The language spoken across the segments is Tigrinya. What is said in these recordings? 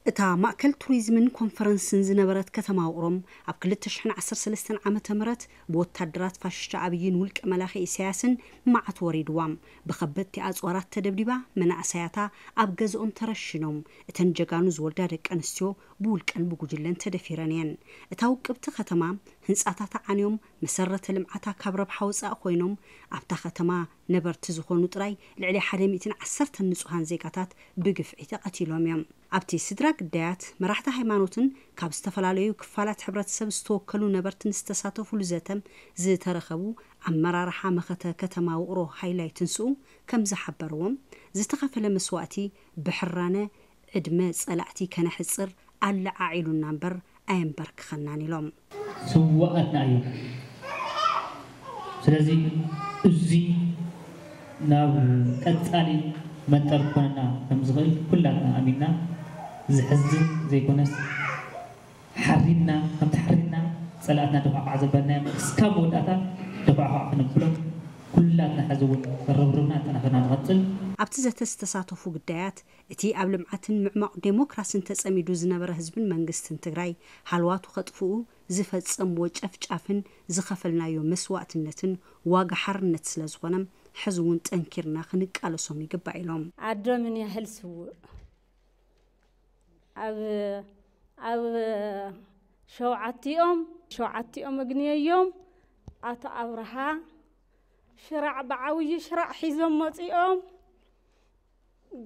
እታ ማእከል ቱሪዝምን ኮንፈረንስን ዝነበረት ከተማ ውቕሮም ኣብ ክልተ ሽሕን ዓሰርተ ሰለስተን ዓመተ ምህረት ብወታደራት ፋሽስት ኣብይን ውልቀ መላኺ ኢሳያስን መዓት ወሪድዋም። ብኸበድቲ ኣጽዋራት ተደብዲባ፣ መናእሰያታ ኣብ ገዝኦም ተረሽኖም። እተን ጀጋኑ ዝወልዳ ደቂ ኣንስትዮ ብውልቀን ብጉጅለን ተደፊረን እየን። እታ ውቅብቲ ከተማ ህንጻታታ ዓንዮም፣ መሰረተ ልምዓታ ካብ ረብሓ ወጻኢ ኮይኖም፣ ኣብታ ከተማ ነበርቲ ዝኾኑ ጥራይ ልዕሊ ሓደ ሚእትን ዓሰርተን ንጹሃን ዜጋታት ብግፍዒ ተቐቲሎም እዮም። ኣብቲ ስድራ ግዳያት፣ መራሕቲ ሃይማኖትን ካብ ዝተፈላለዩ ክፋላት ሕብረተሰብ ዝተወከሉ ነበርትን ዝተሳተፉሉ ዘተም ዝተረኸቡ ኣመራርሓ መኸተ ከተማ ውቕሮ ሃይላይ ትንስኡ ከም ዝሓበርዎም፣ ዝተኸፈለ መስዋእቲ ብሕራነ ዕድመ ጸላእቲ ከነሕጽር ኣለዓዒሉና እምበር ኣየንበርክኸናን ኢሎም። ስውኣትና እዮም። ስለዚ እዚ ናብ ቀጻሊ መጠር ክኾነና ከም ዝኽእል ኩላትና ኣሚንና፣ ዝሕዝን ዘይኮነስ ሓሪንና፣ ከምቲ ሓሪንና ጸላእትና ደፋዕፋዕ ዘበልናዮም ክስካብ መወዳእታ ደፋዕፋዕ ክነብሎም ኩላትና ሕዚ እውን ርብርብና ኣጠናኺርና ንቐጽል። ኣብቲ ዘተ ዝተሳተፉ ግዳያት፣ እቲ ኣብ ልምዓትን ምዕማቕ ዴሞክራስን ተጸሚዱ ዝነበረ ህዝብን መንግስትን ትግራይ ሃልዋቱ ከጥፍኡ ዝፈጸምዎ ጨፍጫፍን ዝኸፈልናዮ መስዋእትነትን ዋጋ ሓርነት ስለ ዝኾነ፣ ሕዚ እውን ጠንኪርና ክንቃለሶም ይግባእ ኢሎም። ኣዶ ምን ያህል ስውእ ኣብ ኣብ ሸውዓቲኦም ሸውዓቲኦም እግንየዮም ኣቶ ኣብርሃ ሽራዕ ብዓብዪ ሽራዕ ሒዞም መጺኦም።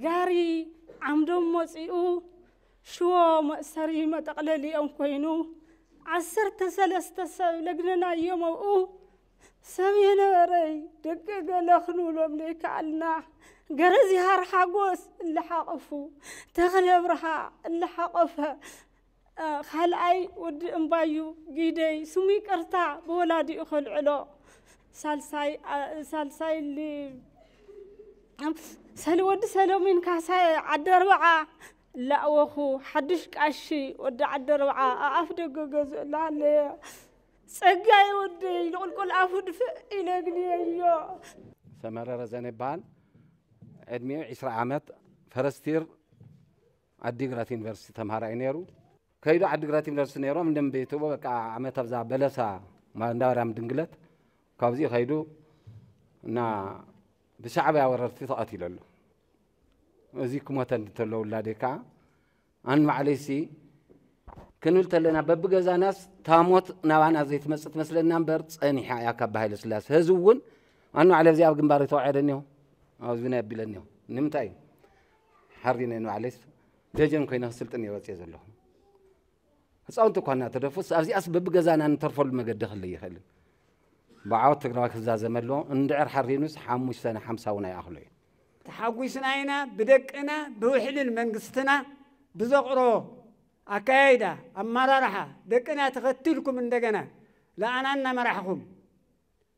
ጋሪ ዓምዶም መጺኡ ሽዎ መእሰሪ መጠቕለሊኦም ኮይኑ ዓሰርተ ሰለስተ ሰብ ለግነናዮም ኣብኡ። ሰብ የነበረይ ደቂ ገለ ክንብሎም ዘይከኣልና ገረዚሃር ሓጎስ እላሓቐፉ ተኽለ ብርሃ እላሓቐፈ። ካልኣይ ወዲ እምባዩ ጊደይ ስሙ ይቅርታ ብወላዲኡ ከልዕሎ ሳልሳይ ሳልሳይ ሰሊ ወዲ ሰለሚን ካሳየ ዓደርባዓ ላእወኹ ሓድሽ ቃሺ ወዲ ዓደርባዓ ኣኣፍ ደገ ገዝኡ ላሃለየ ጸጋይ ወደይ ንቁልቁል ኣፉ ድፍእ ኢለ ግንየዮ። ሰመረ ረዘነ ይበሃል። ዕድሜኡ ዒስራ ዓመት ፈረስቲር ዓዲግራት ዩኒቨርሲቲ ተምሃራይ ነይሩ። ከይዱ ዓዲግራት ዩኒቨርሲቲ ነይሮም እንደም ቤትዎ በቃ ዓመት ኣብዛ በለሳ እንዳበራም ድንግለት ካብዚኡ ከይዱ እና ብሻዕብያ ወረርቲ ተቐቲለሉ። እዚ ክሞተ እንተሎ ውላደይ ከዓ ኣን ባዕለይሲ ክንብል ተለና በብገዛናስ ታሞት ናባና ዘይትመጽእ ትመስለና እምበር ጸኒሓ እያ ካብ ሃይለ ስላሴ። ህዚ እውን ኣን ባዕለ ኣብዚ ኣብ ግንባር ተዋዕደ እኒሆ ኣብዚ ናይ ኣቢለ እኒሆ ንምንታይ እዩ ሓሪነ ንባዕለይስ ደጀን ኮይነ ክስልጥን እየ ወፅየ ዘለኹ። ህፃውንቲ እኳ እናተደፉስ ኣብዚኣስ በብገዛና ንተርፈሉ መገዲ ክህልይ ይኽእልን። ብዓወት ትግራዋይ ክዛዘመ ኣለዎ። እንድዕር ሓሪኑስ ሓሙሽተ ንሓምሳውን ኣይኣኽሎ እዩ። ተሓጒስና ኢና ብደቅና ብውሕልን መንግስትና ብዘቕረቦ ኣካያይዳ ኣመራርሓ ደቅና ተኸቲልኩም እንደገና ለኣና እናመራሕኹም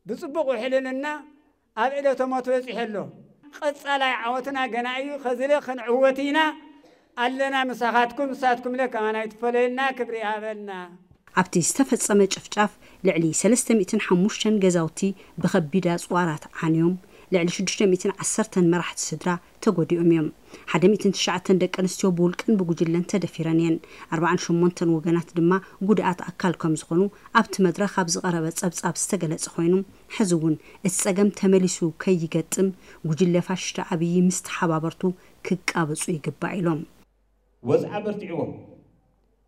ብፅቡቕ ውሕልልና ኣብ ዕለተ ሞት በፂሑ ኣሎ። ቀፃላይ ዓወትና ገና እዩ። ከዝለ ክንዕወት ኢና ኣለና ምሳኻትኩም። ንሳትኩምለ ከማና ኣይትፈለየልና። ክብሪ ይሃበልና። ኣብቲ ዝተፈጸመ ጨፍጫፍ ልዕሊ ሰለስተ ሚእትን ሓሙሽተን ገዛውቲ ብኸቢድ ኣጽዋራት ዓንዮም፣ ልዕሊ ሽዱሽተ ሚእትን ዓሰርተን መራሕቲ ስድራ ተጎዲኦም እዮም። ሓደ ሚእትን ትሽዓተን ደቂ ኣንስትዮ ብውልቀን ብጉጅለን ተደፊረን እየን። ኣርባዓን ሸሞንተን ወገናት ድማ ጉድኣት ኣካል ከም ዝኾኑ ኣብቲ መድረኽ ኣብ ዝቐረበ ጸብጻብ ዝተገለጸ ኮይኑ፣ ሕዚ እውን እቲ ጸገም ተመሊሱ ከይገጥም ጉጅለ ፋሽስት ኣብይ ምስ ተሓባበርቱ ክቃበጹ ይግባእ ኢሎም። ወጽዓ በርቲዕዎም።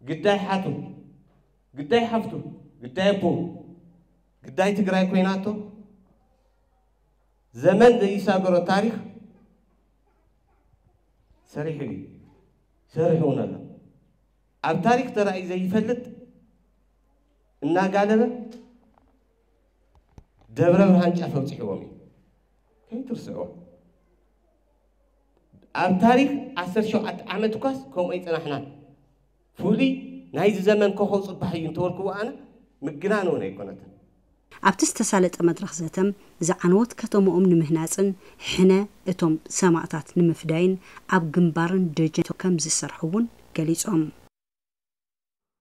ግዳይ ሓቱ፣ ግዳይ ሓፍቱ፣ ግዳይ ኣቦ፣ ግዳይ ትግራይ ኮይናቶ ዘመን ዘይሳገሮ ታሪኽ ሰሪሑ እዩ፣ ሰሪሑ እውን ኣሎ። ኣብ ታሪኽ ተራእዩ ዘይፈልጥ እናጋለበ ደብረ ብርሃን ጫፍ ኣብፂሕዎም እዩ። ከይትርስዕዎ። ኣብ ታሪኽ ዓሰርተ ሸውዓተ ዓመት እኳስ ከምኡ ኣይፀናሕናን። ፍሉይ ናይዚ ዘመን ኮኸብ ፅባሕ እዩ እንተበልክዎ ኣነ ምግናን እውን ኣይኮነትን። ኣብቲ ዝተሳለጠ መድረኽ ዘተም ዝዓነወት ከተምኦም ንምህናፅን ሕነ እቶም ሰማእታት ንምፍዳይን ኣብ ግንባርን ደጀን ከም ዝሰርሑ እውን ገሊፆም።